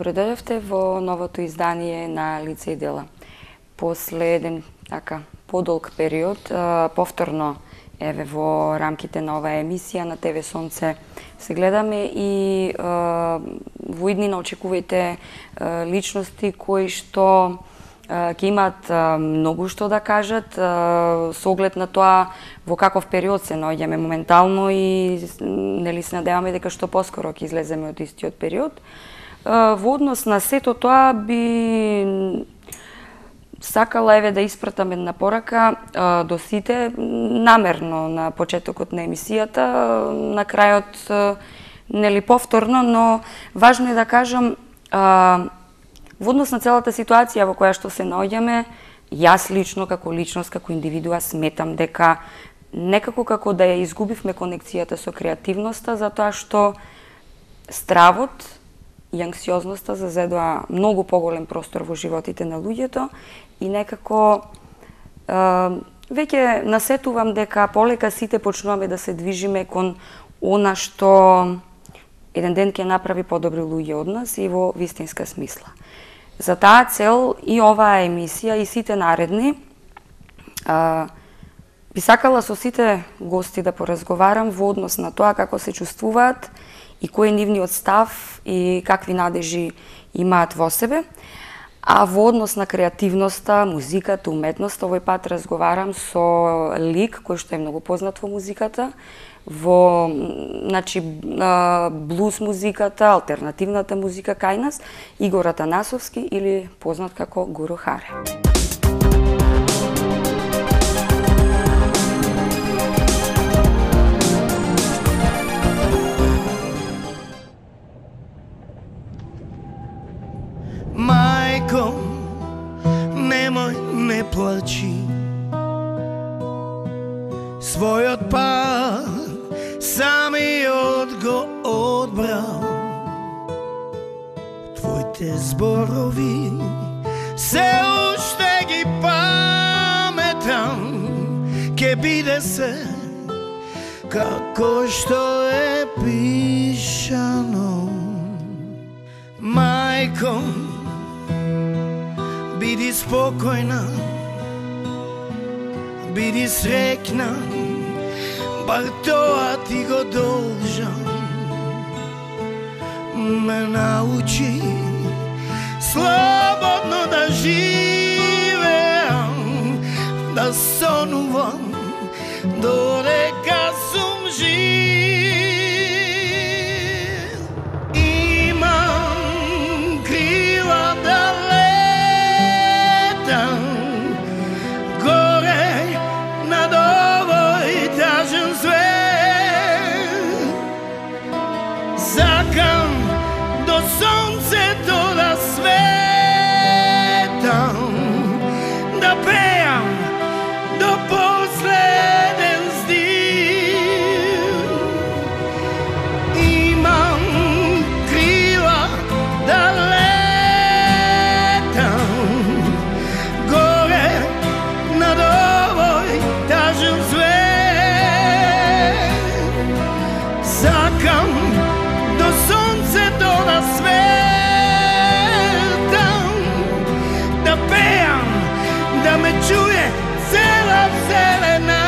Добро дојдовте во новото издание на Лице и дела. После еден подолг период, повторно еве во рамките на оваа емисија на ТВ Сонце се гледаме и во иднина очекувајте личности кои што ќе имаат многу што да кажат со оглед на тоа во каков период се наоѓаме моментално и нели се надеваме дека што поскоро ќе излеземе од истиот период. Во однос на сето тоа би сакала еве да испратам една порака до сите, намерно на почетокот на емисијата, на крајот нели повторно, но важно е да кажам во однос на целата ситуација во која што се наоѓаме, јас лично како личност, како индивидуа сметам дека некако како да ја изгубивме конекцијата со креативноста, затоа што стравот и анксиозноста зазедоа многу поголем простор во животите на луѓето и некако веќе насетувам дека полека сите почнуваме да се движиме кон она што еден ден ќе направи подобри луѓе од нас и во вистинска смисла. За таа цел и оваа емисија и сите наредни би сакала со сите гости да поразговарам во однос на тоа како се чувствуваат и кој е нивниот став и какви надежи имаат во себе. А во однос на креативноста, музиката, уметноста, овој пат разговарам со лик кој што е многу познат во музиката, во блуз музиката, алтернативната музика кај нас, Игор Атанасовски или познат како Гуру Харе. Мајко, немој, не плачи, својот пат самиот го одбрал. Твоите зборови се уште ги паметам, ке биде се како што е пишано. Мајко, биди спокојна, биди среќна, бар тоа ти го должам. Ме научи слободно да живеам, да сонувам додека сум жив. Сонцето да светам, да пеам до последен здив. Имам крила да летам горе над овој тажен свет. Сакам до сонцето да светам, да пеам, да ме чуе цела вселена.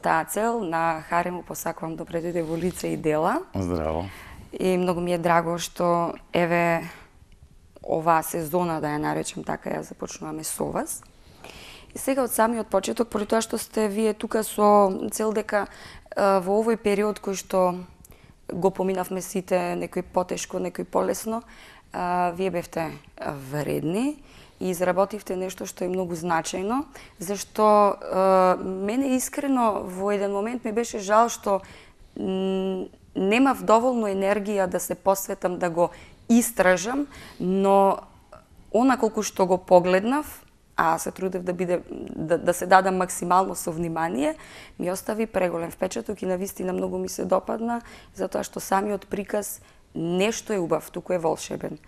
таа цел на Харе му посакувам добре дојде во лице и дела. Здраво. И многу ми е драго што еве оваа сезона, да ја наречем така, ја започнуваме со вас. И сега од самиот почеток, поради тоа што сте вие тука со цел дека во овој период кој што го поминавме сите, некој потешко, некој полесно, вие бевте вредни и изработивте нешто што е многу значајно, зашто мене искрено во еден момент ми беше жал што немав доволно енергија да се посветам да го истражам, но она колку што го погледнав, а се трудев да се дадам максимално со внимание, ми остави преголем впечаток и навистина многу ми се допадна, затоа што самиот приказ нешто е убав, туку е волшебен.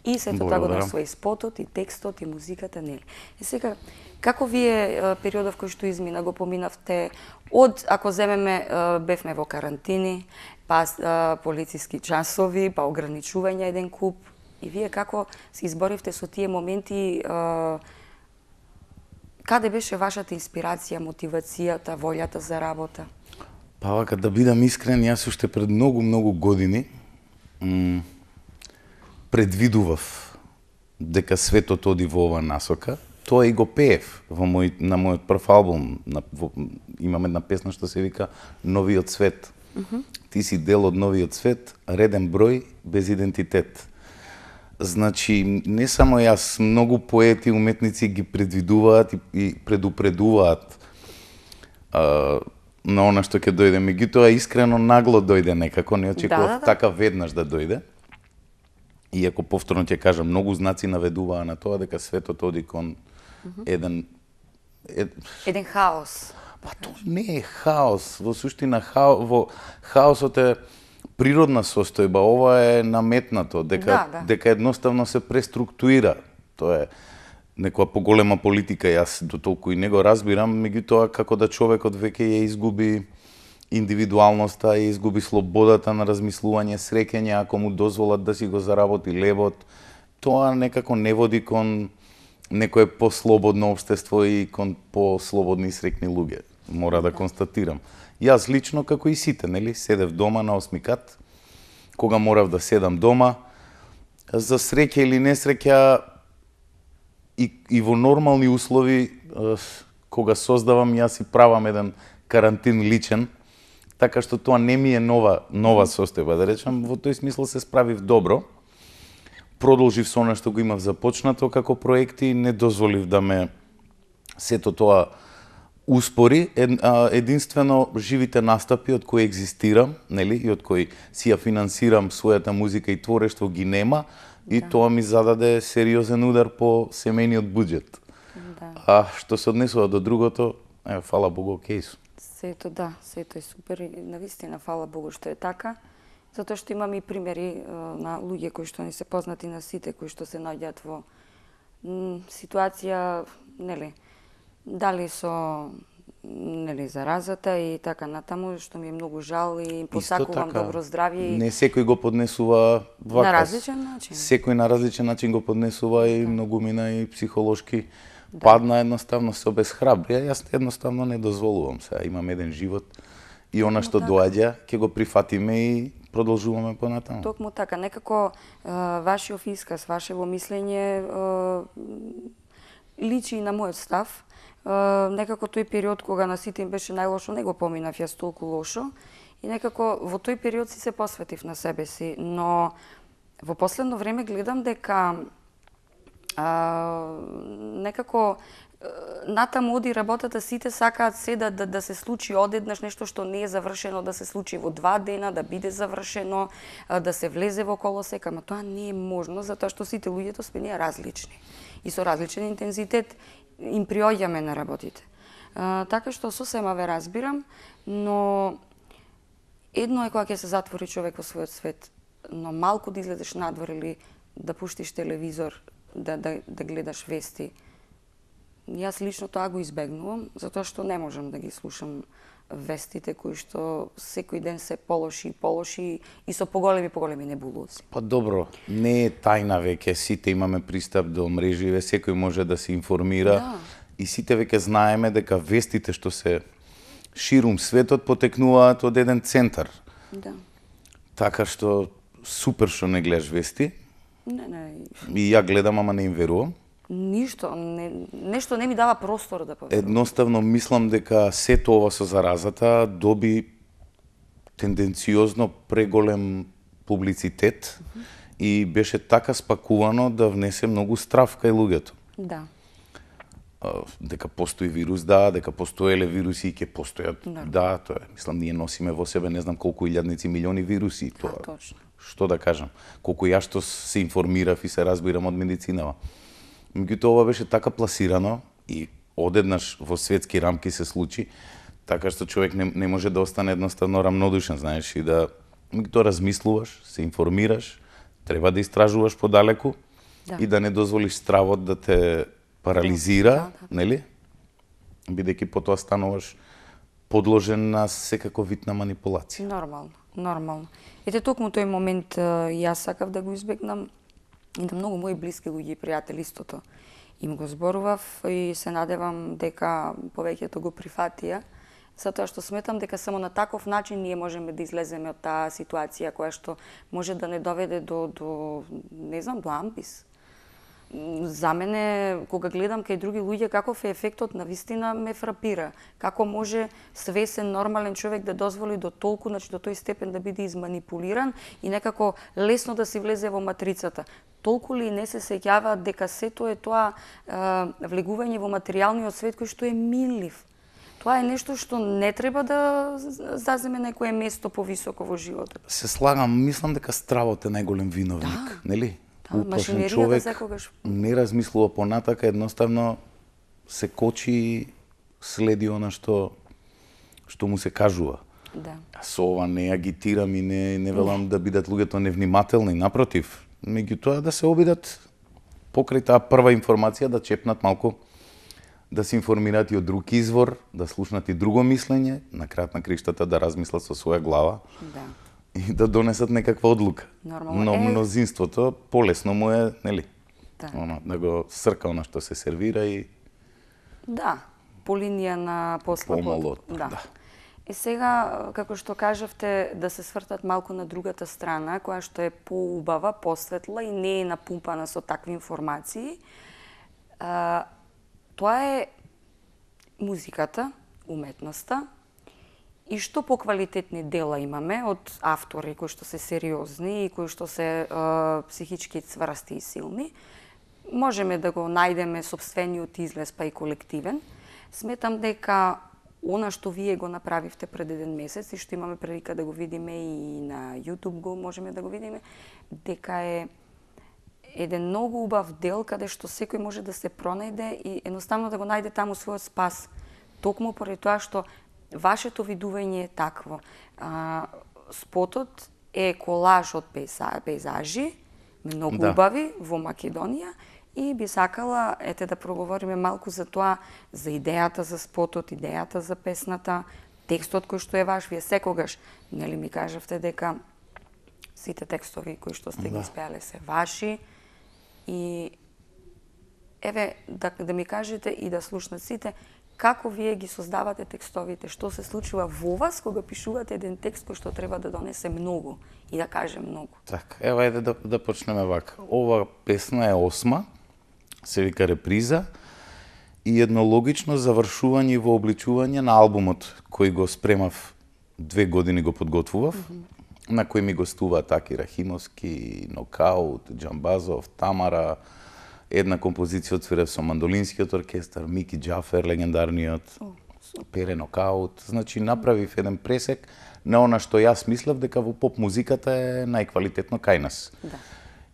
И сето тоа го носува и спотот, и текстот, и музиката, нели. И сега, како вие периодов кој што измина го поминавте од, ако земеме, бевме во карантини, па полициски часови, па ограничување еден куп, и вие како се изборивте со тие моменти, каде беше вашата инспирација, мотивацијата, волјата за работа? Па вака, да бидам искрен, јас уште пред многу години предвидував дека светот оди во ова насока. Тоа и го пеев на мојот прв албум. Имам една песна што се вика Новиот свет. Ти си дел од новиот свет, реден број, без идентитет. Значи, не само јас, многу поети, уметници ги предвидуваат и предупредуваат на она што ќе дојде. Меѓутоа, искрено нагло дојде некако, не очекував така веднаш да дојде. Иако повторно ќе кажам, многу знаци наведуваа на тоа дека светот оди кон еден хаос. Па тоа не е хаос, во суштина хаосот е природна состојба, ова е наметнато, дека едноставно се преструктуира. Тоа е некоја поголема политика, јас до толку и не го разбирам, меѓутоа како да човекот веќе ја изгуби индивидуалноста, ја изгуби слободата на размислување, среќање, ако му дозволат да си го заработи лебот, тоа некако не води кон некое послободно општество и кон послободни и среќни луѓе. Мора да констатирам. Јас лично, како и сите, нели, седев дома на 8 кат, кога морав да седам дома, за среќа или несреќа и во нормални услови, кога создавам, јас си правам еден карантин личен, така што тоа не ми е нова состојба, да речам, во тој смисла се справив добро. Продолжив со она што го имав започнато како проекти, не дозволив да ме сето тоа успори. Единствено живите настапи од кои екзистирам, нели, и од кои си ја финансирам својата музика и творештво ги нема, и тоа ми зададе сериозен удар по семејниот буџет. А што се однесува до другото, фала Богу, окей сум. Сето е супер и навистина фала Богу што е така, затоа што имам и примери на луѓе кои што не се познати на сите, кои што се наоѓаат во ситуација, нели, дали со заразата и така натаму, што ми е многу жал и им посакувам добро здравје. Не секој го поднесува вака. На различен начин. Секој на различен начин го поднесува и многу мина и психолошки падна, едноставно се обесхрабри. Јас едноставно не дозволувам сега. Имам еден живот и она што доаѓа, ќе го прифатиме и продолжуваме понатаму. Токму така, некако вашиот исказ, вашево мислење личи и на мојот став. Некако тој период кога на сите им беше најлошо, не го поминав јас толку лошо и некако во тој период си се посветив на себе си, но во последно време гледам дека некако натаму оди работата, сите сакаат се да се случи одеднаш, нешто што не е завршено да се случи во 2 дена, да биде завршено, да се влезе во колосек, ама тоа не е можно, затоа што сите луѓето сме ние различни и со различен интензитет им приоѓаме на работите. Така што сосема ве разбирам, но едно е кога ќе се затвори човек во својот свет, но малку да излезеш надвор или да пуштиш телевизор, да гледаш вести. Јас лично тоа го избегнувам, затоа што не можам да ги слушам вестите кои што секој ден се полоши и со поголеми небулози. Па добро, не е тајна веќе, сите имаме пристап до мрежи, секој може да се информира и сите веќе знаеме дека вестите што се ширум светот потекнуваат од еден центар. Да. Така што супер што не гледаш вести. Не. И ја гледам, ама не им верувам. Нешто не ми дава простор да поверувам. Едноставно мислам дека сето ова со заразата доби тенденциозно преголем публицитет и беше така спакувано да внесе многу страв кај луѓето. Да. Дека постои вирус, да, дека постоеле вируси и ќе постојат. Да, тоа е. Мислам, ние носиме во себе не знам колку илјадници милиони вируси. Тоа. Точно. Што да кажам? Колку ја што се информирав и се разбирам од медицинава. Меѓутоа ова беше така пласирано и одеднаш во светски рамки се случи, така што човек не може да остане едноставно рамнодушен, знаеш, и да меѓутоа размислуваш, се информираш, треба да истражуваш подалеку и да не дозволиш стравот да те парализира, нели? Бидејќи потоа стануваш подложен на секаков вид на манипулација. Нормално. Ете токму тој момент јас сакав да го избегнам и да многу мои блиски луѓе и пријатели истото. Им го зборував и се надевам дека повеќето го прифатија, затоа што сметам дека само на таков начин ние можеме да излеземе од таа ситуација која што може да не доведе до не знам, до ампис. За мене, кога гледам кај други луѓе, каков е ефектот, навистина ме фрапира. Како може свесен, нормален човек да дозволи до толку, значи до тој степен да биде изманипулиран и некако лесно да си влезе во матрицата. Толку ли не се сеќаваат дека сето е тоа влегување во материјалниот свет кој што е минлив. Тоа е нешто што не треба да заземе некое место повисоко во животот. Се слагам, мислам дека стравот е најголем виновник, нели? Уплашен човек не размислува понатака, едноставно се кочи и следи она што му се кажува. Да. Со ова не агитирам и не велам да бидат луѓето невнимателни, напротив. Меѓутоа да се обидат покрај таа прва информација да чепнат малку, да се информираат и од друг извор, да слушнат и друго мислење, на крајот на криштата да размислат со своја глава. Да. И да донесат некаква одлука. Нормално. Но мнозинството полесно му е, нели? Да. Да го срка она што се сервира и да, по линија на посла. Помало. Да. И сега, како што кажавте, да се свртат малку на другата страна, која што е поубава, посветла и не е напумпана со такви информации. Тоа е музиката, уметноста, и што поквалитетни дела имаме од автори кои што се сериозни и кои што се психички цврсти и силни. Можеме да го најдеме сопствениот излез, па и колективен. Сметам дека она што вие го направивте пред еден месец и што имаме прилика да го видиме и на YouTube го можеме да го видиме, дека е еден многу убав дел каде што секој може да се пронајде и едноставно да го најде таму својот спас. Токму поради тоа што вашето видување е такво. Спотот е колаж од пейзажи, многу убави во Македонија и би сакала да проговориме малку за тоа, за идејата за спотот, идејата за песната, текстот кој што е ваш. Вие секогаш, нели ми кажавте дека сите текстови кои што сте ги испеале се ваши и еве да ми кажете и да слушнат сите како вие ги создавате текстовите, што се случува во вас кога пишувате еден текст кој што треба да донесе многу и да каже многу. Така, ева ајде да почнеме вака. Ова песна е 8, се вика Реприза и едно логично завршување и вообличување на албумот кој го спремав 2 години го подготвував, на кој ми гостуваат Аки Рахимовски, Нокаут, Џамбазов, Тамара, една композиција отсвирав со мандолинскиот оркестар, Мики Џафер, легендарниот, Пере Нокаут. Значи, направив еден пресек на она што јас мислев дека во поп музиката е најквалитетно кај нас. Да.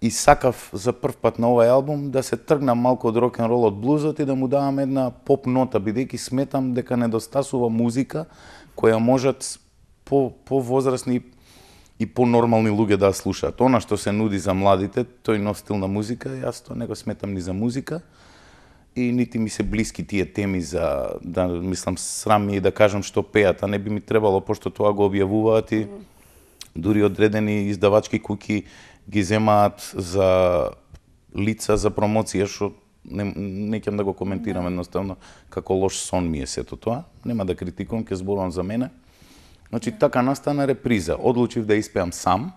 И сакав за прв пат на овој албум да се тргнам малку од рок-н-рол, од блузот и да му давам една поп нота, бидејќи сметам дека недостасува музика која можат по-возрастни и по-нормални луѓе да слушаат. Она што се нуди за младите, тој нов стил на музика, јас тоа не го сметам ни за музика и нити ми се блиски тие теми за, да мислам, срам ми и да кажам што пеат, а не би ми требало, пошто тоа го објавуваат и дури одредени издавачки куки ги земаат за лица за промоција, што не ќе да го коментирам едноставно како лош сон ми е сето тоа. Нема да критикувам, ќе зборувам за мене. Значи, така настана реприза. Одлучив да испеам сам,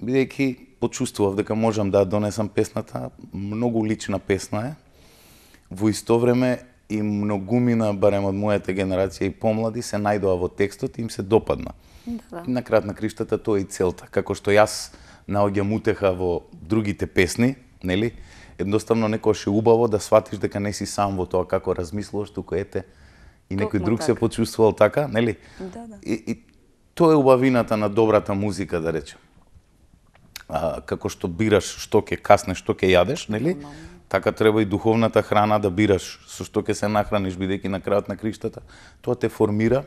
бидејќи почувствував дека можам да донесам песната. Многу лична песна е. Во исто време и многумина, барем од мојата генерација и помлади, се најдоа во текстот и им се допадна. Да. На крајот на криштата тоа е и целта. Како што јас наоѓам утеха во другите песни, нели? Едноставно некојаш е убаво да сватиш дека не си сам во тоа како размислуваш, туку ете и некој друг се почувствувал така, нели? Да. И тоа е убавината на добрата музика, да речем. Како што бираш што ќе каснеш, што ќе јадеш, нели? Така треба и духовната храна да бираш со што ќе се нахраниш, бидејќи на крајот на криштата тоа те формира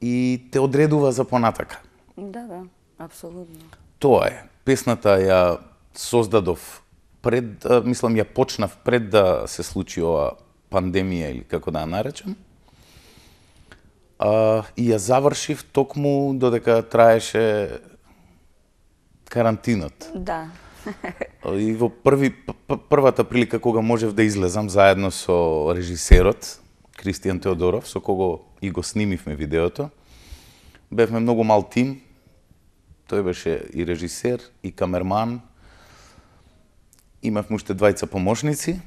и те одредува за понатака. Да, апсолутно. Тоа е. Песната ја создадов пред, мислам, ја почнав пред да се случи ова пандемија или како да ја наречам. И ја завршив токму додека траеше карантинот. Да. И во првата прилика кога можев да излезам заедно со режисерот Кристијан Теодоров, со кого и го снимивме видеото. Бевме многу мал тим. Тој беше и режисер, и камерман. Имавме уште двајца помошници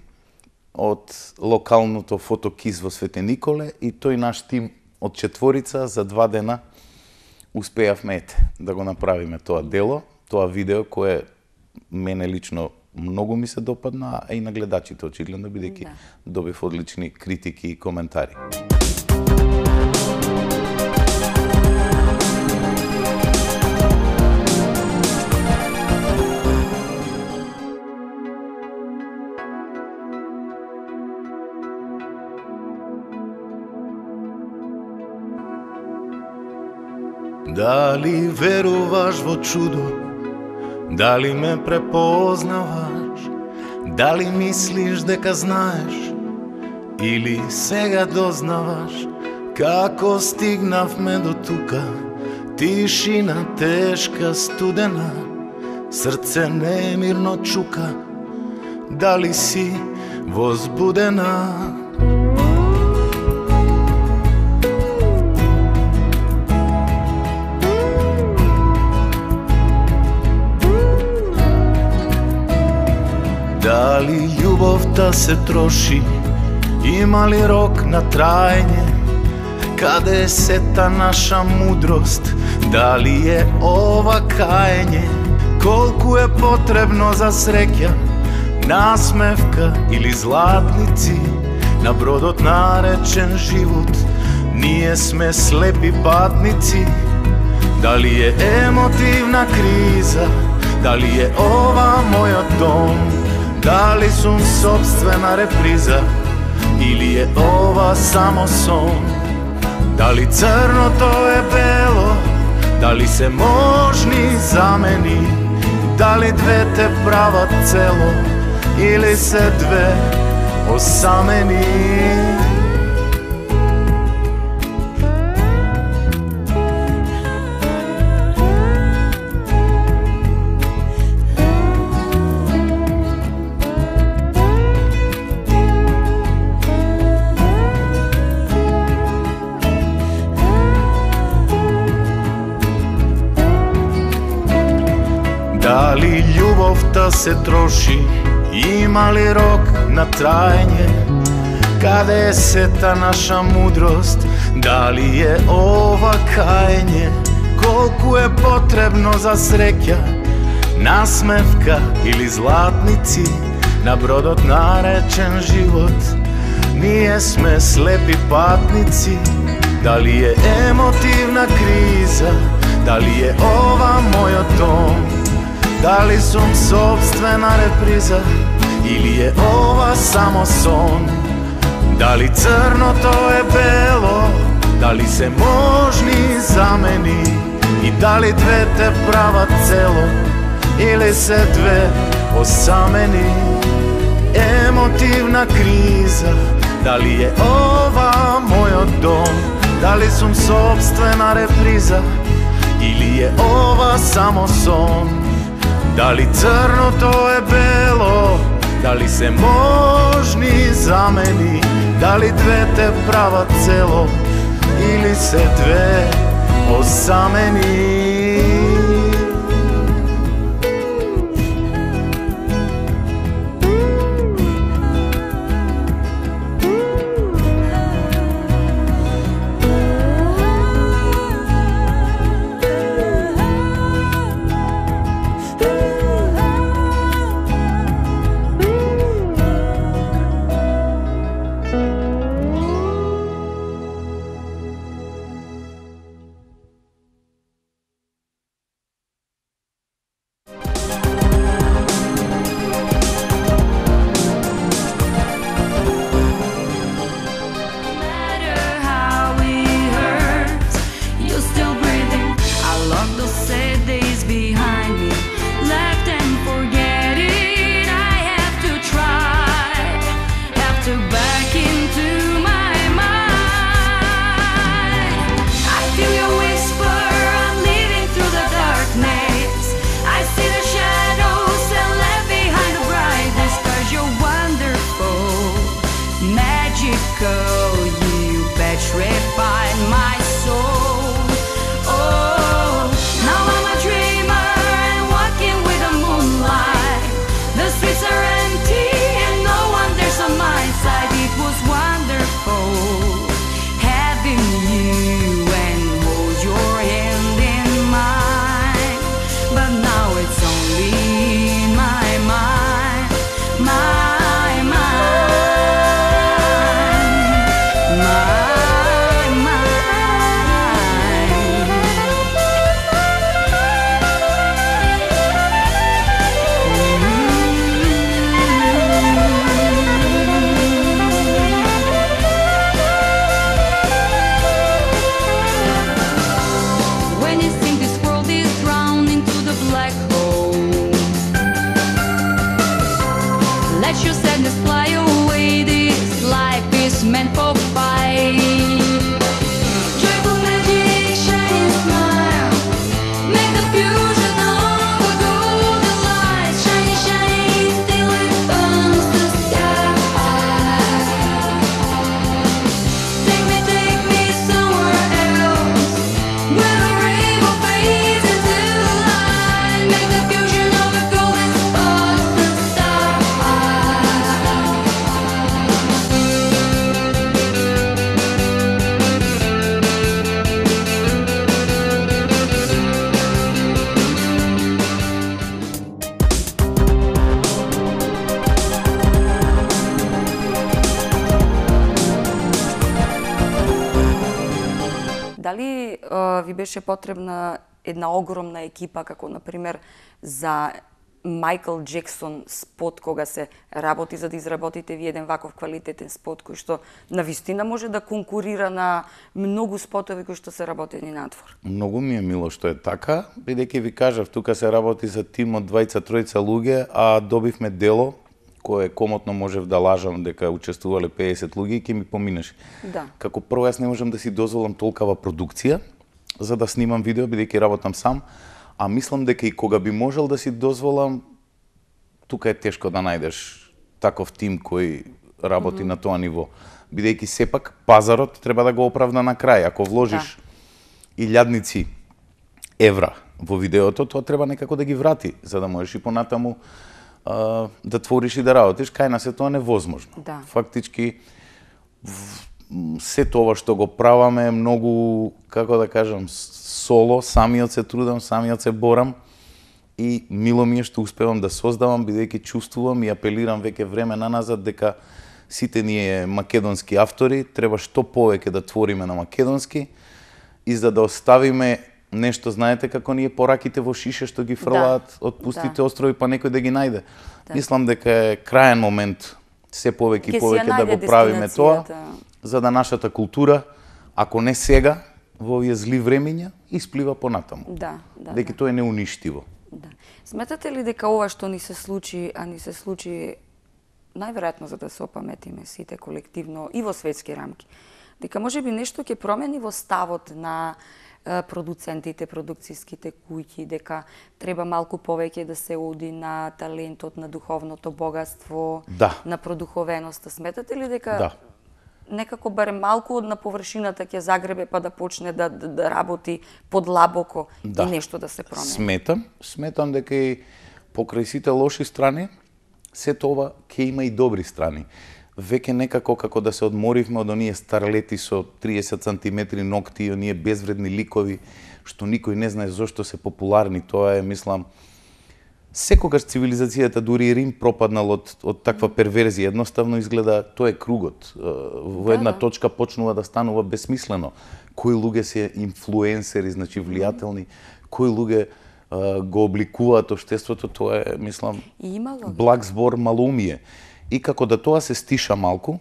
од локалното фотокиз во Свете Николе и тој наш тим од четворица за 2 дена успеавме да го направиме тоа дело, тоа видео кое мене лично многу ми се допадна, а и на гледачите очигледно, бидејќи добив одлични критики и коментари. Дали веруваш во чудо? Дали ме препознаваш? Дали мислиш дека знаеш? Или сега дознаваш како стигнавме до тука? Тишина тешка, студена, срце немирно чука. Дали си возбудена? Дали љубовта се троши? Има ли рок на траење? Каде е сета наша мудрост? Дали е ова каење? Колку е потребно за среќа? Насмевка или златници? На бродот наречен живот ние сме слепи патници. Дали е емотивна криза? Дали е ова мојот дом? Дали сум собствена реприза или е ова само сон? Дали црното е бело? Дали се можни замени? Дали двете прават цело или се две осамени? Дали љубовта се троши? Има ли рок на траење? Каде е сета наша мудрост? Дали е ова каење? Колку е потребно за среќа? Насмевка или златници? На бродот наречен живот ние сме слепи патници. Дали е емотивна криза? Дали е ова мојот дом? Дали сум собствена реприза или е ова само сон? Дали црното е бело? Дали се можни замени? И дали двете прават цело или се две осамени? Емотивна криза? Дали е ова мојот дом? Дали сум собствена реприза или е ова само сон? Дали црното е бело? Дали се можни замени, дали двете прават цело, или се две осамени. Дали ви беше потребна една огромна екипа, како например за Майкл Джексон спот, кога се работи за да изработите ви еден ваков квалитетен спот кој што навистина може да конкурира на многу спотови кои што се работени надвор? Многу ми е мило што е така, бидејќи ви кажав, тука се работи за тим од 2-3 луѓе, а добивме дело кое комотно можев да лажам дека учествувале 50 луѓе и ќе ми поминеше. Да. Како прво јас не можам да си дозволам толкава продукција за да снимам видео, бидејќи работам сам, а мислам дека и кога би можел да си дозволам, тука е тешко да најдеш таков тим кој работи на тоа ниво. Бидејќи сепак пазарот треба да го оправда на крај. Ако вложиш илјадници евра во видеото, тоа треба некако да ги врати, за да можеш и понатаму да твориш и да работиш. Кај нас е тоа невозможно. Да. Фактички, се тоа што го праваме е многу, како да кажам, соло, самиот се трудам, самиот се борам и мило ми е што успевам да создавам, бидејќи чувствувам и апелирам веќе време наназад дека сите ние македонски автори треба што повеќе да твориме на македонски и за да оставиме нешто, знаете како ние пораките во шише што ги фрлаат од пустите острови па некој да ги најде. Мислам дека е краен момент се повеќе и повеќе да го правиме тоа, за да нашата култура, ако не сега, во овие зли времиња, исплива понатаму. Дека тоа е неуништиво. Сметате ли дека ова што ни се случи, а ни се случи најверојатно за да се опаметиме сите колективно и во светски рамки, дека можеби нешто ќе промени во ставот на продуцентите, продукцијските куќи, дека треба малку повеќе да се оди на талентот, на духовното богатство, на продуховеноста. Сметате ли дека некако барем малку на површината ќе загребе па да почне да работи подлабоко и нешто да се промени? Сметам дека и покрај сите лоши страни, сето ова ќе има и добри страни. Веќе некако како да се одморивме од оние старлети со 30 сантиметри ногти и оние безвредни ликови, што никој не знае зошто се популарни. Тоа е, мислам, секогаш цивилизацијата, дури и Рим, пропаднал од таква перверзија. Едноставно изгледа, тоа е кругот. Во една точка почнува да станува безсмислено. Кои луѓе се инфлуенсери, значи влијателни, кои луѓе го обликуваат општеството, тоа е, мислам, благ збор малоумие. И како да тоа се стиша малку,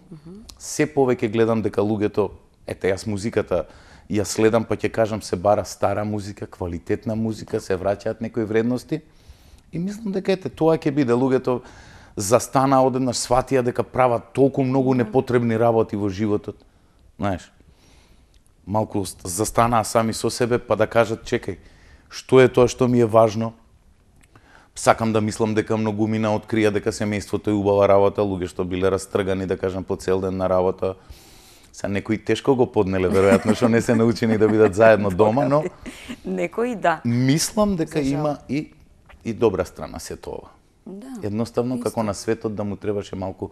се повеќе гледам дека луѓето, ете, јас музиката ја следам, па ќе кажам, се бара стара музика, квалитетна музика, се враќаат некои вредности. И мислам дека, ете, тоа ќе биде. Луѓето застана одеднаш, сватија дека прават толку многу непотребни работи во животот. Знаеш, малку застанаа сами со себе, па да кажат, чекај, што е тоа што ми е важно? Сакам да мислам дека многумина открија дека семејството е убава работа, луѓе што биле растргани, да кажам, по цел ден на работа. Са некои тешко го поднеле, веројатно, што не се научени да бидат заедно дома, но некои да. Мислам дека има и добра страна сето ова. Едноставно како на светот да му требаше малку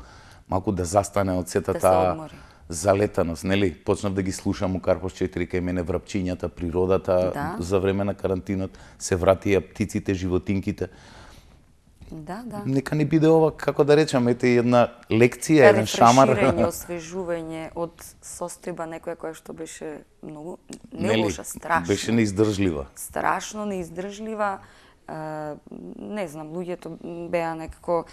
да застане од сета таа залетаност, нели? Почнав да ги слушам у Карпош 4 кај мене врапчињата, природата, за време на карантинот се вратија птиците, животинките. Нека не биде ова, како да речам, ете една лекција, еден шамар. Рефреширање, освежување од состојба некоја која што беше многу не лоша, страшна. Беше неиздржлива. Страшно неиздржлива. Не знам, луѓето беа некако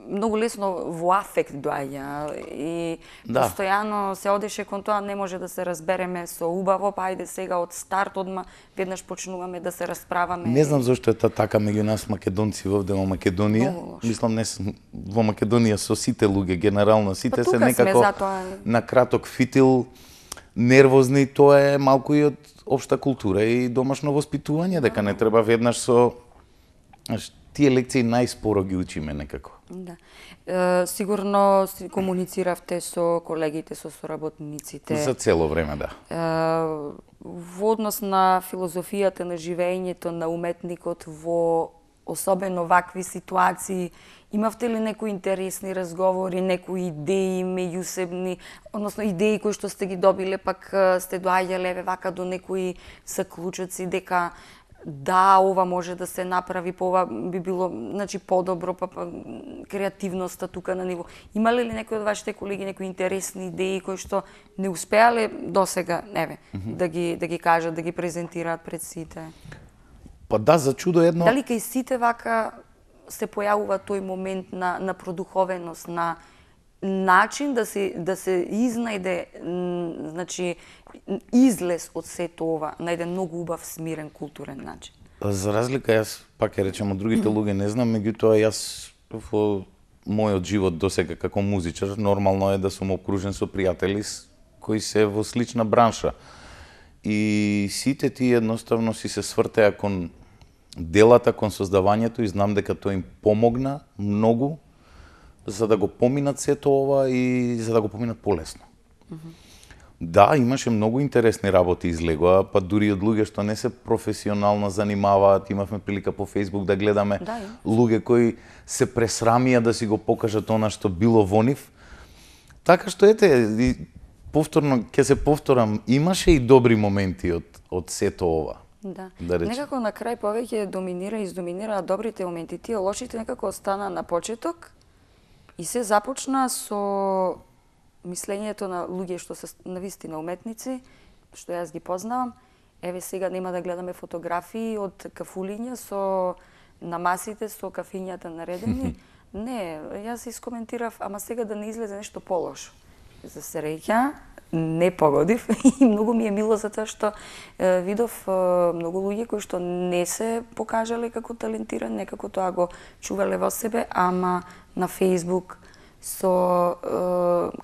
многу лесно во афект доаѓа и постојано се одеше кон тоа, не може да се разбереме со убаво, па ајде сега од старт одма веднаш почнуваме да се расправаме. Не знам зошто е така меѓу нас македонци вовде во Македонија. Мислам, не во Македонија со сите луѓе генерално, сите се некако на краток фитил, нервозни, тоа е малку и од општа култура и домашно воспитување, дека не треба веднаш со тие лекции најспоро ги учиме некако. Сигурно комунициравте со колегите, со соработниците. За цело време, да. Во однос на филозофијата на живеењето на уметникот во особено вакви ситуации, имавте ли некои интересни разговори, некои идеи меѓусебни, односно идеи кои што сте ги добиле, пак сте доаѓале вака до некои заклучоци дека да, ова може да се направи, по ова би било, значи, подобро, па креативноста тука на ниво. Имале ли некои од вашите колеги некои интересни идеи кои што не успеале досега, да ги кажат, да ги презентираат пред сите? Па да, за чудо едно. Дали кај сите вака се појавува тој момент на продуховеност, на начин да се изнајде, значи, излез од сето ова на еден многу убав, смирен, културен начин? За разлика, јас пак ја речем од другите луѓе не знам, меѓутоа јас во мојот живот досега како музичар нормално е да сум окружен со пријатели кои се во слична бранша. И сите тие едноставно си се свртеа кон делата, кон создавањето и знам дека тоа им помогна многу за да го поминат сето ова и за да го поминат полесно. Да, имаше многу интересни работи излегоа, па дури од луѓе што не се професионално занимаваат, имавме прилика по Facebook да гледаме луѓе кои се пресрамија да си го покажат она што било во нив. Така што ете, повторно ќе се повторам, имаше и добри моменти од сето ова. Да некако на крај повеќе издоминира добрите моменти, тие лошите некако остана на почеток и се започна со мислењето на луѓе што се навистина уметници, што јас ги познавам. Еве сега нема да гледаме фотографии од кафулиња на масите со кафињата наредени. Не, јас искоментирав, ама сега да не излезе нешто полошо. За среќа, не погодив и многу ми е мило за тоа што видов многу луѓе кои што не се покажале како талентирани, некако тоа го чувале во себе, ама на Facebook со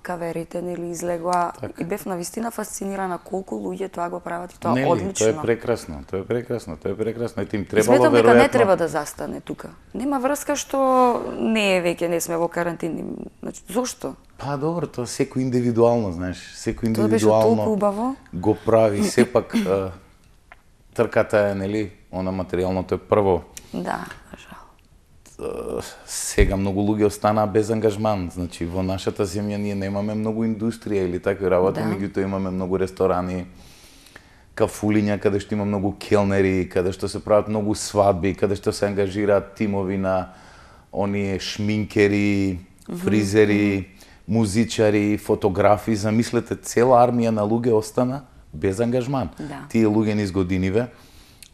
каверите, нели, излегоа и бев навистина фасцинирана колку луѓе тоа го прават и тоа одлично. Тоа е прекрасно, тоа е прекрасно, тоа е прекрасно. Ете им требало веројатно. Сметам дека не треба да застане тука. Нема врска што не е веќе, не сме во карантин. Значи, зошто? Па добро, тоа секој индивидуално, знаеш, секој индивидуално тоа беше толку убаво. Го прави, сепак трката е, нели, она материјалното е прво. Да, жал. Сега многу луѓе останаа без ангажман, значи во нашата земја ние немаме многу индустрија или такви работи, меѓутоа имаме многу ресторани, кафулиња каде што има многу келнери, каде што се прават многу свадби, каде што се ангажираат тимови на оние шминкери, фризери, музичари, фотографи, замислете, цела армија на луѓе остана без ангажман. Тие луѓе низ годиниве,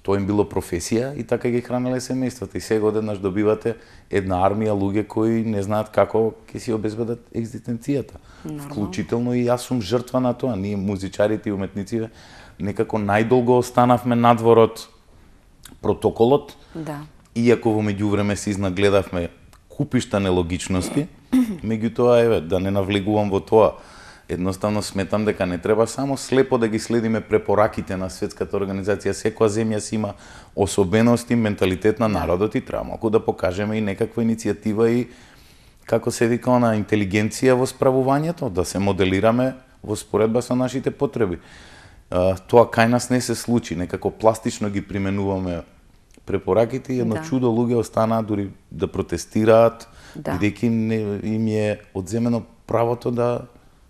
тоа им било професија и така ги хранеле семејствата. И сега одеднаш добивате една армија луѓе кои не знаат како ќе си обезбедат екзистенцијата. Вклучително и јас сум жртва на тоа. Ние музичарите и уметниците некако најдолго останавме надвор од протоколот. Иако во меѓувреме се изнагледавме купишта нелогичности, меѓутоа еве да не навлегувам во тоа. Едноставно сметам дека не треба само слепо да ги следиме препораките на Светската организација. Секоја земја си има особености, менталитет на народот и треба малку да покажеме и некаква иницијатива и како се вика она интелигенција во справувањето, да се моделираме во споредба со нашите потреби. Тоа кај нас не се случи, некако пластично ги применуваме препораките и едно чудо луѓе останаа дури да протестираат, бидејќи им е одземено правото да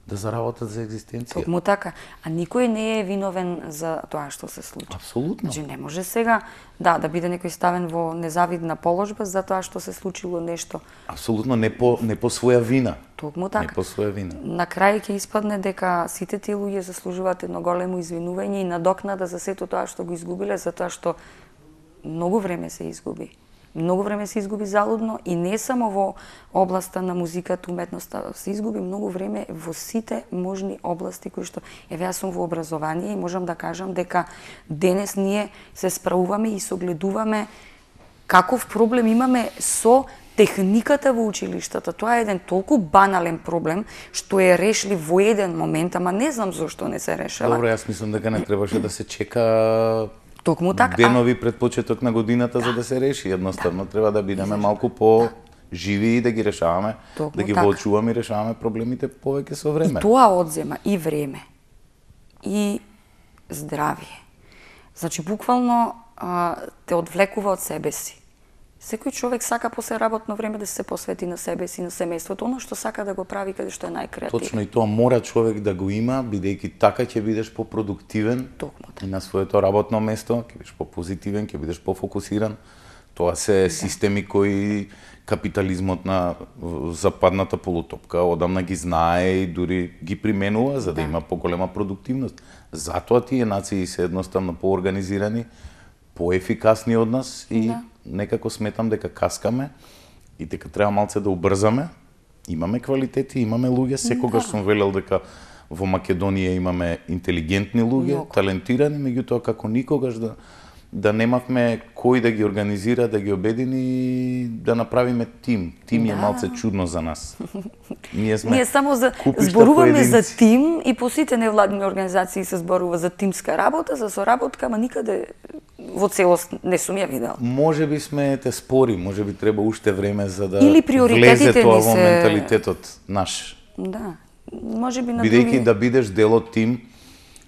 заработат за екзистенција. Токму така. А никој не е виновен за тоа што се случи. Апсолутно. Значи не може сега да биде некој ставен во незавидна положба за тоа што се случило нешто. Апсолутно не по своја вина. Токму така. Не по своја вина. На крај ќе испадне дека сите тие луѓе заслужуваат едно големо извинување и надокнада за сето тоа што го изгубиле, затоа што многу време се изгуби. Многу време се изгуби залудно и не само во областа на музиката, уметноста, се изгуби многу време во сите можни области кои што еве јас сум во образование и можам да кажам дека денес ние се справуваме и согледуваме каков проблем имаме со техниката во училиштата. Тоа е еден толку банален проблем што е решлив во еден момент, ама не знам зошто не се решава. Добро, јас мислам дека не требаше да се чека токму така. Денови пред почеток на годината за да се реши. Едноставно треба да бидеме малку по живи и да ги решаваме, да ги воочуваме и решаваме проблемите повеќе со време. И тоа одзема и време, и здравие. Значи, буквално те одвлекува од себе си. Секој човек сака после работно време да се посвети на себе си, на семејството, оно што сака да го прави каде што е најкреативно. Точно, и тоа мора човек да го има, бидејќи така ќе бидеш по-продуктивен и на своето работно место, ќе бидеш по-позитивен, ќе бидеш по-фокусиран. Тоа се системи кои капитализмот на западната полутопка одамна ги знае и дури ги применува за да има поголема продуктивност. Затоа тие нации се едноставно поорганизирани, поефикасни од нас и некако сметам дека каскаме и дека треба малце да убрзаме. Имаме квалитети, имаме луѓе, секогаш сум велел дека во Македонија имаме интелигентни луѓе, талентирани, меѓутоа како никогаш да немавме кој да ги организира, да ги обедини, да направиме тим. Тим е малце чудно за нас. Ние само зборуваме за тим и по сите невладини организации се зборува за тимска работа, за соработка, ама никаде во целост не сум ја видел. Може би сме те спори, може би треба уште време за да влезе тоа во менталитетот наш. Да, може би на други... Бидејќи да бидеш дел од тим,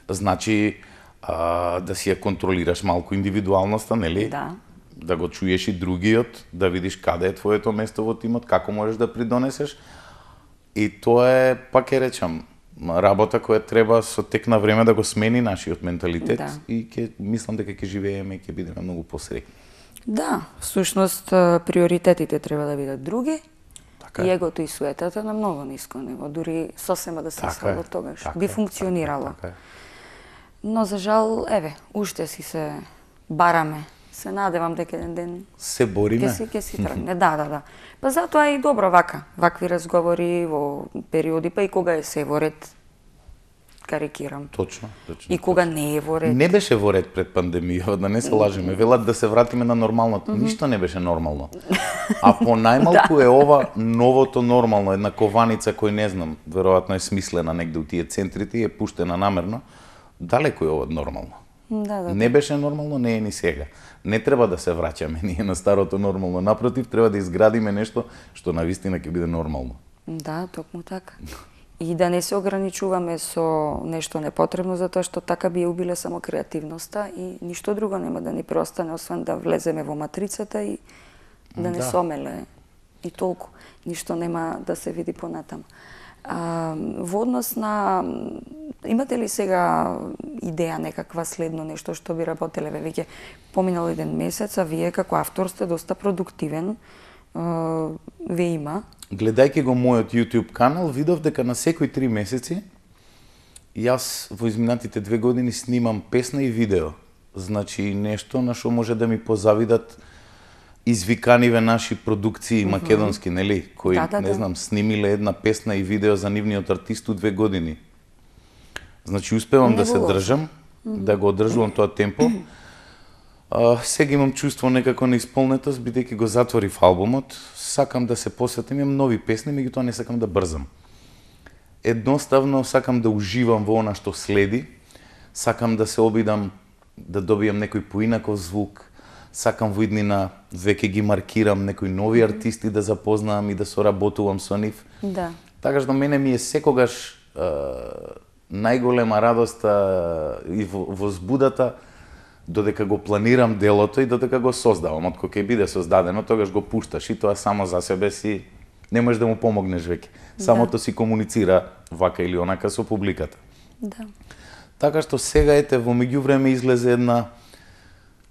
значи да си ја контролираш малку индивидуалноста, нели? Да го чуеш и другиот, да видиш каде е твоето место во тимот, како можеш да придонесеш. И тоа е, пак ќе речам, работа која треба со тек на време да го смени нашиот менталитет и мислам дека ќе живееме и ќе бидеме многу посреќни. Да, всушност приоритетите треба да бидат други. И егото и суетата на многу ниско ниво, дури сосема да се свалат тогаш. Би функционирало. Но за жал, еве, уште си се бараме. Се надевам дека еден ден се бориме. Ќе си тргне. Да. Па затоа е и добро вакви разговори во периоди, па и кога е се во ред, карикирам. Точно. И кога не е во ред. Не беше во ред пред пандемија, да не се лажеме. Велат да се вратиме на нормалното. Ништо не беше нормално. А по најмалку е ова новото нормално, една кованица кој не знам, веројатно е смислена негде у тие центрите и е пуштена намерно. Далеку е ова нормално. Да. Не беше нормално, не е ни сега. Не треба да се враќаме ние на старото нормално. Напротив, треба да изградиме нешто што навистина ќе биде нормално. Да, токму така. И да не се ограничуваме со нешто непотребно, затоа што така би ја убиле само креативноста и ништо друго нема да ни преостане, освен да влеземе во матрицата и да не сомеле. И толку. Ништо нема да се види понатаму. Во однос на... Имате ли сега идеја некаква следно нешто што би работеле? Веќе поминал еден месец, а вие како автор сте доста продуктивен. Ве има. Гледајќи го мојот YouTube канал, видов дека на секои 3 месеци јас во изминатите 2 години снимам песна и видео. Значи нешто на што може да ми позавидат извиканиве наши продукции македонски, нели, кои, не знам, снимиле една песна и видео за нивниот артист у 2 години. Значи, успевам да се држам, да го одржувам тоа темпо. Сега имам чувство некако неисполнетост, бидејќи го затворив албумот. Сакам да се посветам, имам нови песни, меѓутоа не сакам да брзам. Едноставно сакам да уживам во она што следи. Сакам да се обидам да добијам некој поинаков звук. Сакам во иднина веќе ги маркирам некои нови артисти да запознавам и да соработувам со нив. Да. Така што мене ми е секогаш најголема радоста и возбудата додека го планирам делото и додека го создавам. Од кога ќе биде создадено, тогаш го пушташ и тоа само за себе си не можеш да му помогнеш веќе. Самото си комуницира вака или онака со публиката. Да. Така што сега ете во меѓувреме излезе една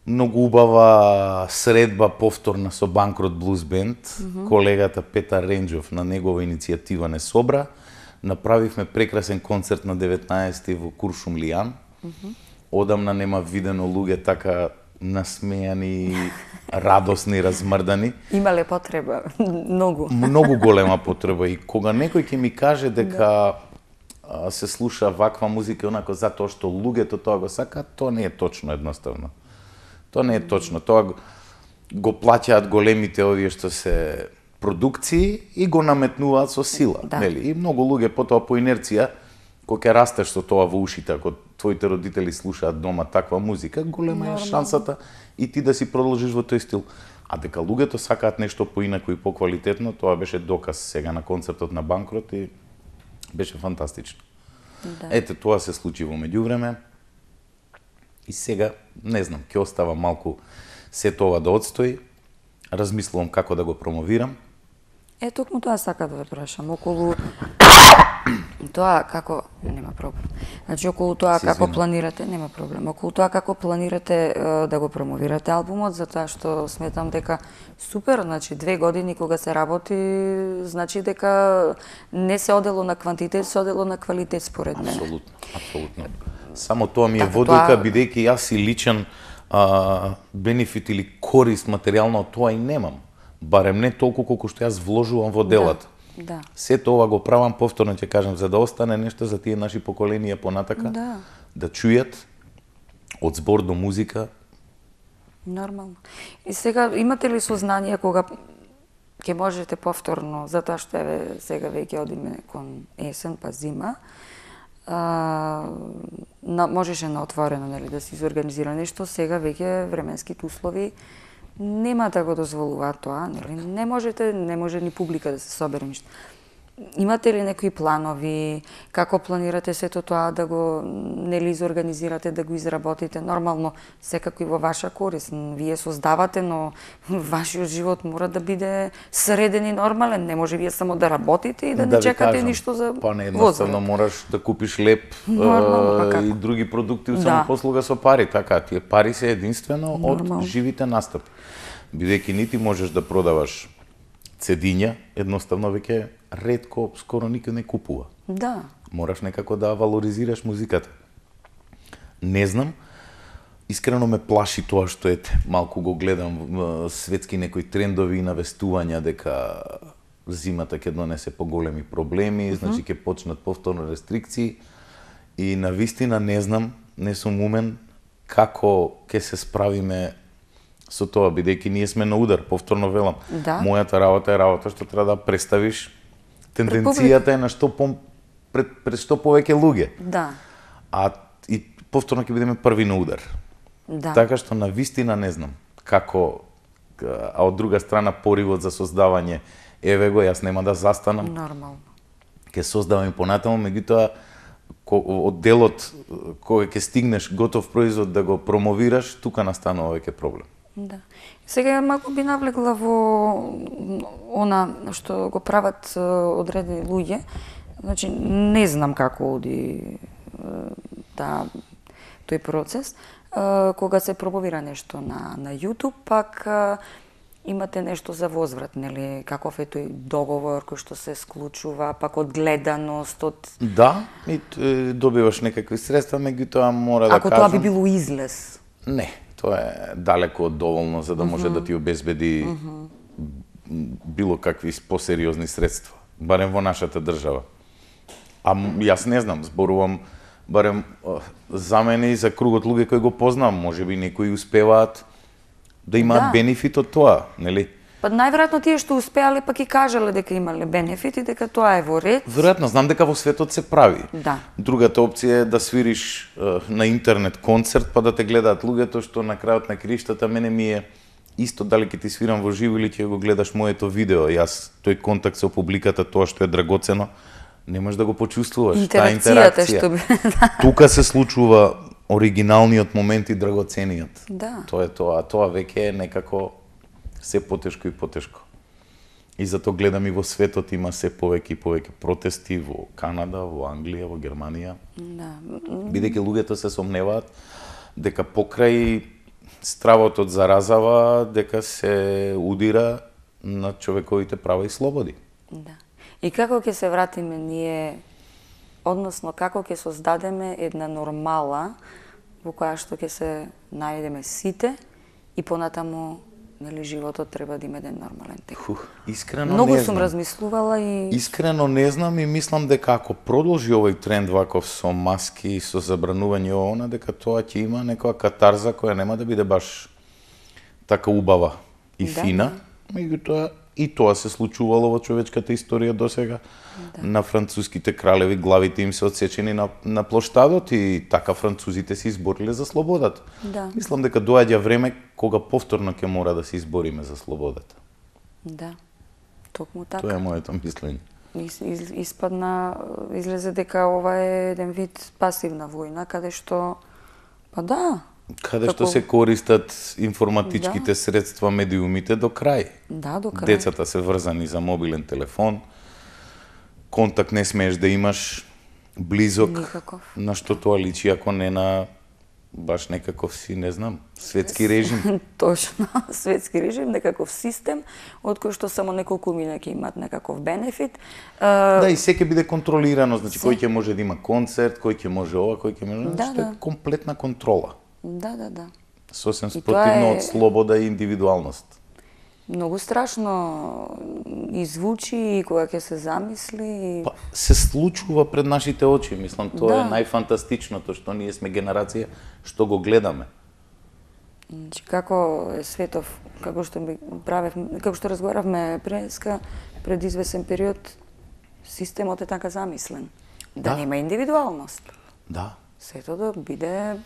многу убава средба повторна со Банкрот Блуз Бенд. Колегата Петар Ренџов на негова иницијатива не собра. Направивме прекрасен концерт на 19 во Куршумлијан. Одамна нема видено луѓе така насмејани, радосни, размрдани. Имале потреба, многу. Многу голема потреба и кога некој ќе ми каже дека се слуша ваква музика онако затоа што луѓето тоа го сака, тоа не е точно едноставно. Тоа не е точно. Тоа го плаќаат големите овие што се продукции и го наметнуваат со сила, нели? И многу луѓе потоа по инерција кога ќе растеш со тоа во ушите, ако твоите родители слушаат дома таква музика, голема е шансата и ти да си продолжиш во тој стил. А дека луѓето сакаат нешто поинако и поквалитетно, тоа беше доказ сега на концертот на Банкрот и беше фантастично. Да. Ете, тоа се случи во меѓувреме. И сега, не знам, ќе остава малку се тоа да одстои. Размислувам како да го промовирам. Токму тоа сака да ве прашам. Околу тоа како... Нема проблем. Значи, околу тоа како планирате... Нема проблем. Околу тоа како планирате да го промовирате албумот, затоа што сметам дека супер, значи 2 години кога се работи, значи дека не се одело на квантитет, се одело на квалитет според мене. Апсолутно, апсолутно. Само тоа ми е водилка, бидејќи јас и личен бенефит или корист материјално од тоа и немам. Барем не толку колку што јас вложувам во делото. Да. Сето ова го правам, повторно ќе кажам, за да остане нешто за тие наши поколенија понатака, да чујат од збор до музика. Нормално. И сега, имате ли сознание кога ќе можете повторно, затоа што сега веќе одиме кон есен па зима, можеше на отворено, нели, да се изорганизира нешто, сега веќе временските услови нема да го дозволуваат тоа, нели? Не може ни публика да се собере ништо. Имате ли некои планови, како планирате сето тоа да го нели изорганизирате, да го изработите? Нормално, секако и во ваша корист. Вие создавате, но вашиот живот мора да биде среден и нормален. Не може вие само да работите и да не чекате ништо за Па не, едноставно мораш да купиш леп и други продукти од самопослуга со пари. Така, тие пари се единствено од живите настапи. Бидејќи нити можеш да продаваш цедиња, едноставно веќе ретко, скоро никој не купува. Да. Мораш некако да валоризираш музиката. Не знам, искрено ме плаши тоа што малку го гледам светски некои трендови и навестувања дека зимата ќе донесе поголеми проблеми, значи ќе почнат повторно рестрикции И на вистина не знам, не сум умен како ќе се справиме со тоа, бидејќи ние сме на удар, повторно велам. Да. Мојата работа е работа што треба да представиш тенденцијата е на што пред што повеќе луѓе. Да. И повторно ќе бидеме први на удар. Да. Така што на вистина не знам како, а од друга страна поривот за создавање, еве го, јас нема да застанам. Нормално. Ќе создавам и понатаму, меѓутоа од делот кога ќе стигнеш готов производ да го промовираш, тука настанува веќе проблем. Да. Сега малку би навлегла во она што го прават одредени луѓе. Значи, не знам како оди тој процес. Кога се промовира нешто на YouTube, пак имате нешто за возврат, нели? Каков е тој договор кој што се склучува, пак од гледаност, од... Да, и добиваш некакви средства, меѓутоа мора да кажам... Ако тоа би било излез? Не, тоа е далеко од доволно за да може да ти обезбеди било какви посериозни средства, барем во нашата држава. А јас не знам, зборувам барем за мене и за кругот луѓе кои го познам, можеби некои успеваат да имаат бенефит од тоа, нели? Па најверојатно тие што успеале пак и кажале дека имале бенефит и дека тоа е во ред. Веројатно, знам дека во светот се прави. Да. Другата опција е да свириш на интернет концерт па да те гледаат луѓето, што на крајот на криштата мене ми е исто дали ќе ти свирам во живо или ќе го гледаш моето видео. Јас тој контакт со публиката, тоа што е драгоцено, не можеш да го почувствуваш, таа интеракција. Што би... Тука се случува оригиналниот момент и драгоцениот. Да. Тоа е тоа, тоа веќе е некако се потешко и потешко. И затоа гледам и во светот има се повеќе и повеќе протести во Канада, во Англија, во Германија. Да. Бидејќи луѓето се сомневаат дека покрај стравот од заразава, дека се удира на човековите права и слободи. Да. И како ќе се вратиме ние, односно како ќе создадеме една нормала во која што ќе се најдеме сите и понатаму, нели, животот треба да има еден нормален тек. Искрено Многу не сум знам. размислувала и... Искрено не знам и мислам дека ако продолжи овој тренд ваков со маски и со забранување она, дека тоа ќе има некоја катарза која нема да биде баш така убава и фина, меѓутоа и тоа се случувало во човечката историја досега. На француските кралеви главите им се отсечени на плоштадот и така французите се избориле за слободата. Да. Мислам дека доаѓа време кога повторно ќе мора да се избориме за слободата. Да, токму така. Тоа е моето мислење. Излезе дека ова е еден вид пасивна војна, каде што, па да, Каде што се користат информатичките средства, медиумите до крај. Да, до крај. Децата се врзани за мобилен телефон, контакт не смееш да имаш близок, никаков. На што тоа личи ако не на баш некаков си, не знам, светски режим. Точно, светски режим, некаков систем, од кој што само неколку мина ќе имаат некаков бенефит. Да, и се ќе биде контролирано, значи кој ќе може да има концерт, кој ќе може ова, кој ќе може, што е комплетна контрола. Да. Сосем спротивно од слобода и индивидуалност. Многу страшно извучи и кога ќе се замисли. Па, се случува пред нашите очи, мислам, тоа е најфантастичното, што ние сме генерација што го гледаме. Значи, како е светов, како што разговаравме преска, пред извесен период, системот е така замислен. Да нема индивидуалност. Да. Сето да биде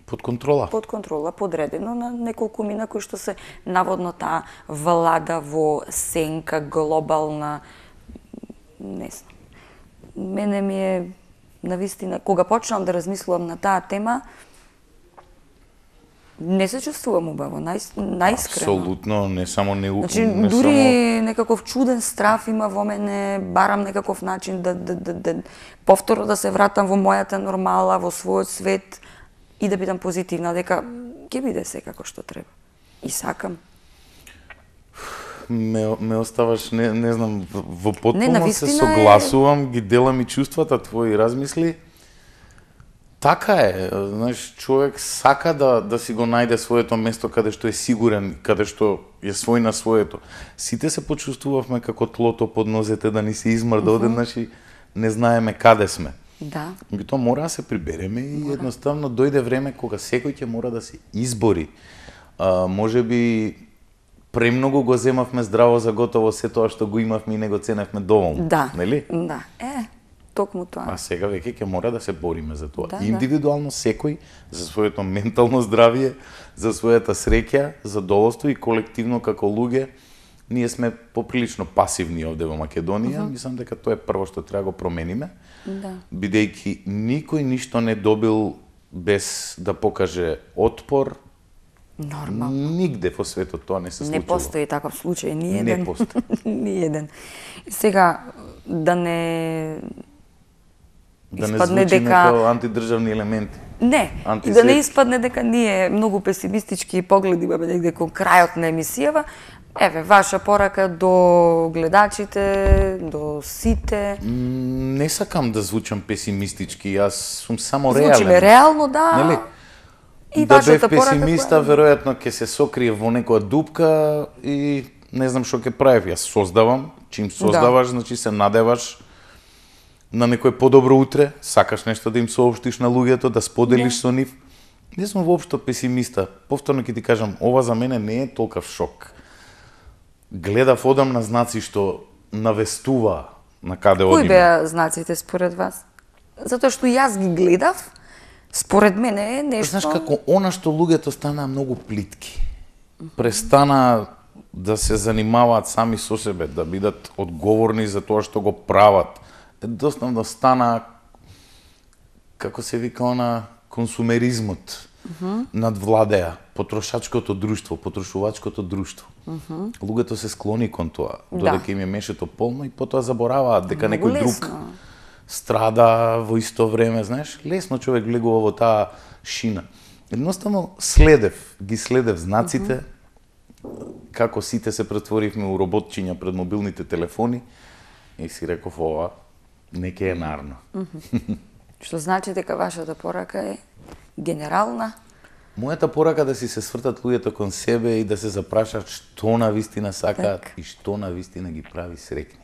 под контрола. Под контрола, подредено на неколку мина кои што се наводно таа влада во сенка глобална, не знам. Мене ми е навистина, кога почнам да размислувам на таа тема, не се чувствувам убаво, најискрено. Апсолутно, не само Значи, дури некаков чуден страв има во мене, барам некаков начин да повторно да се вратам во мојата нормала, во својот свет и да бидам позитивна, дека ќе биде се како што треба. И сакам. Ме оставаш, не знам, во потполно се согласувам, ги делам и чувствата твои размисли. Така е, знаеш, човек сака да си го најде своето место каде што е сигурен, каде што е свој на своето. Сите се почувствувавме како тлото под нозете да ни се измрда одеднаш и не знаеме каде сме. Да. Тоа мора да се прибереме и едноставно дојде време кога секој ќе мора да се избори. Може би премногу го земавме здраво за готово се тоа што го имавме и не го ценевме доволно, нели? Да. Токму тоа. А сега веќе ќе мора да се бориме за тоа. Да, индивидуално секој за своето ментално здравје, за својата среќа, задоволство и колективно како луѓе, ние сме поприлично пасивни овде во Македонија. Мислам дека тоа е прво што треба го промениме. Бидејќи никој ништо не добил без да покаже отпор. Нормално. Нигде во светот тоа не се случува. Не постои таков случај, ни еден. Не постои. Ни еден. Сега, да не испадне дека како антидржавни елементи. Не, и да не испадне дека ние многу песимистички погледи имаме негде кон крајот на емисијава. Еве, ваша порака до гледачите, до сите. Не сакам да звучам песимистички, јас сум само реален. Звучиме реално, да. Нели? И да бев песимиста, веројатно ќе се сокрие во некоја дупка и не знам што ќе правев. Јас создавам, чим создаваш, значи се надеваш на некој подобро утре, сакаш нешто да им соопштиш на луѓето, да споделиш со нив. Не сум воопшто песимиста. Повторно ќе ти кажам, ова за мене не е толков шок. Гледав одамна знаци што навестува на каде одиме. Кои беа знаците според вас? Затоа што јас ги гледав, според мене е нешто... Знаеш како, она што луѓето станаа многу плитки. Престана да се занимаваат сами со себе, да бидат одговорни за тоа што го прават. Едноставно стана, како се вика она, консумеризмот надвладеа потрошачкото друштво, потрошувачкото друштво. Луѓето се склони кон тоа, додека им е мешето полно и потоа забораваат дека некој друг страда во исто време, знаеш, лесно човек влегува во таа шина. Едноставно ги следев знаците, како сите се претворивме у роботчиња пред мобилните телефони и си реков ова не ке е нарно. Што значи дека вашата порака е генерална? Мојата порака да си се свртат луѓето кон себе и да се запрашаат што навистина сакаат и што навистина ги прави среќни.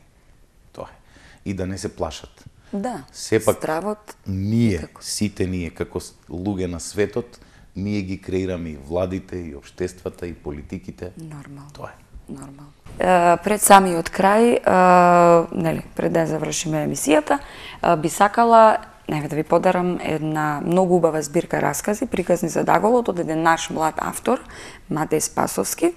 Тоа е. И да не се плашат. Да, сепак стравот ние, сите ние, како луѓе на светот, ние ги креираме и владите, и општествата, и политиките. Нормално. Тоа е. Нормално. Пред самиот крај, нели, пред да завршиме емисијата, би сакала да ви подарам една многу убава збирка раскази, приказни за Даголот, од еден наш млад автор, Матеј Спасовски,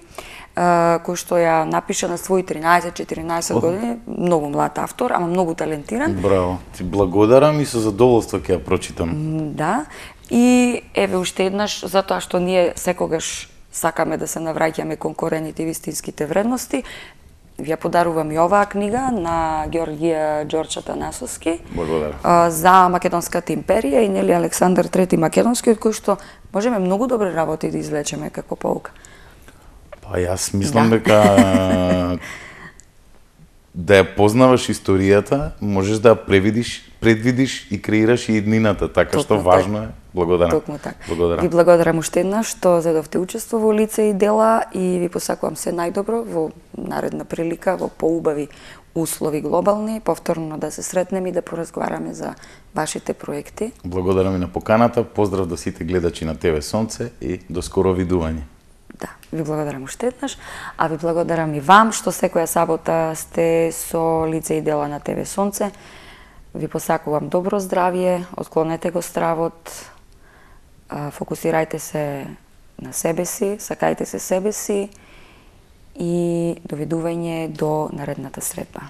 кој што ја напиша на своји 13-14 години, многу млад автор, ама многу талентиран. Браво, ти благодарам и со задоволство ќе ја прочитам. Да, и еве уште еднаш, затоа што ние секогаш сакаме да се навраќаме кон корените и вистинските вредности, ви ја подарувам и оваа книга на Ѓорѓија Ѓорча Танасовски. Благодарам. За Македонската империја и нели Александар III Македонски, од кој што можеме многу добри работи да извлечеме како полука. Па јас мислам дека да ја познаваш историјата, можеш да ја предвидиш и креираш и иднината, така што важно е. Благодарам. Токму така. Ви благодарам уште еднаш што зедовте учество во лице и дела и ви посакувам се најдобро во наредна прилика, во поубави услови глобални, повторно да се сретнеме и да поразговараме за вашите проекти. Благодарам и на поканата, поздрав до сите гледачи на ТВ Сонце и до скоро видување. Да, ви благодарам уште еднаш, а ви благодарам и вам што секоја сабота сте со лице и дела на ТВ Сонце. Ви посакувам добро здравје, отклонете го стравот, фокусирајте се на себе си, сакајте се себе си и довидување до наредната средба.